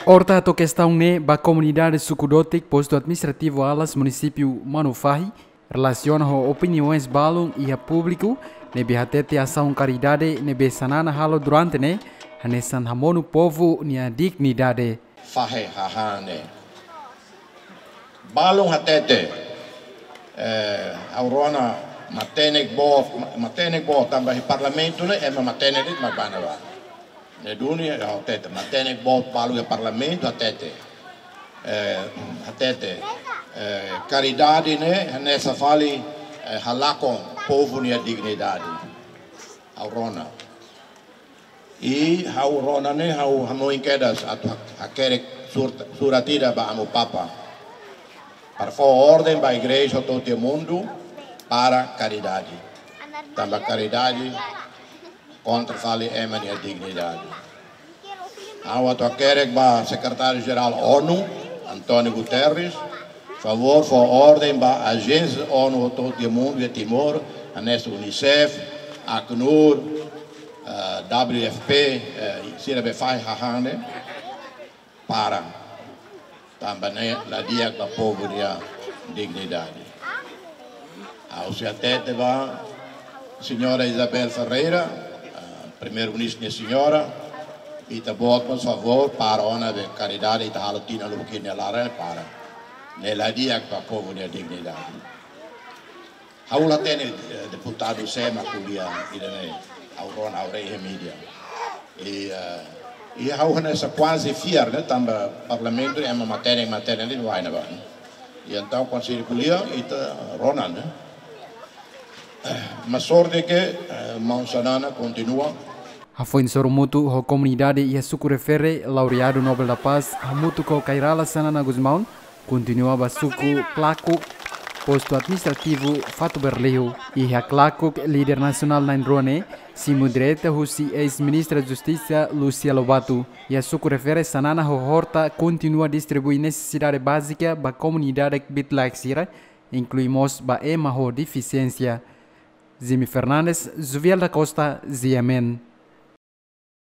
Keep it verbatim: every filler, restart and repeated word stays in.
Horta hato'o kestaun ne'e ba komunidade Suku Dotik, Postu Administrativu Alas, Munisípiu Manufahi, relasiona ho opiniaun balun iha públiku ne'ebé hatete asaun karidade ne'ebé Xanana halo durante ne'e hanesan hamonu povu nia dignidade. Fahe hahane. Balun hatete, eh, ha'u rona matenek boot, matenek boot tanba iha parlamentu ne'e ema matenek de'it mak bá ne'ebá. Ne'e duni ha'u hatete, matenek boot balu iha parlamentu hatete. Eh, hatete, eh, karidade ne'e hanesan fali, eh, halakon povu nia dignidade. Ha'u rona. I ha'u rona ne'e ha'u hanoin kedas atu ha-, hakerek sur-, surat ida ba Amu Papa. Para fó orden ba igreja hotu iha mundu para karidade. Tanba karidade kontra fali ema nia dignidade. Ha'u atu hakerek ba Sekretáriu Jerál ONU, António Guterres, favór fó orden ba ajénsia ONU hotu iha mundu iha Timor, hanesan UNICEF, ACNUR, eh, W F P, eh, sira be fahe hahane, para. Tanba ne'e la di'ak ba povu nia dignidade. Ha'u sei hatete ba Señora Isabel Ferreira, ah, Primeiru-Ministru nia señora, ita-boot mós favór para ona be karidade ita halo tinan lubuk ida nia laran para. Ne'e la di'ak ba povu nia dignidade. Ha'u la hatene, eh, deputadu sé mak ko'alia ida-ne'e, ha'u rona, ha'u haree iha mídia. I, eh, i ha'u hanesan kuaze fiar, ne'e, tanba parlamentu ema matenek, matenek de'it mak bá ne'ebá, ne'e. I entaun kuandu sira ko'alia, ita rona, ne'e. Mas sorte ke, eh, maun Xanana kontinua. Hafoin sorumutu ho komunidade iha suku refere, laureadu Nobel da Paz, hamutuk ho Kay Rala Xanana Gusmão, kontinua ba suku Klakuk, Postu Administrativu Fatuberliu. Iha Klakuk, líder nasionál na'in-rua ne'e simu direta husi eis-ministra Justisa Lúcia Lobato. Iha suku refere, Xanana ho Horta kontinua distribui nesesidade bázika ba komunidade kbiit-laek sira, inklui mós ba ema ho defisiénsia. Jimmy Fernandes, Jovial da Costa, G M N.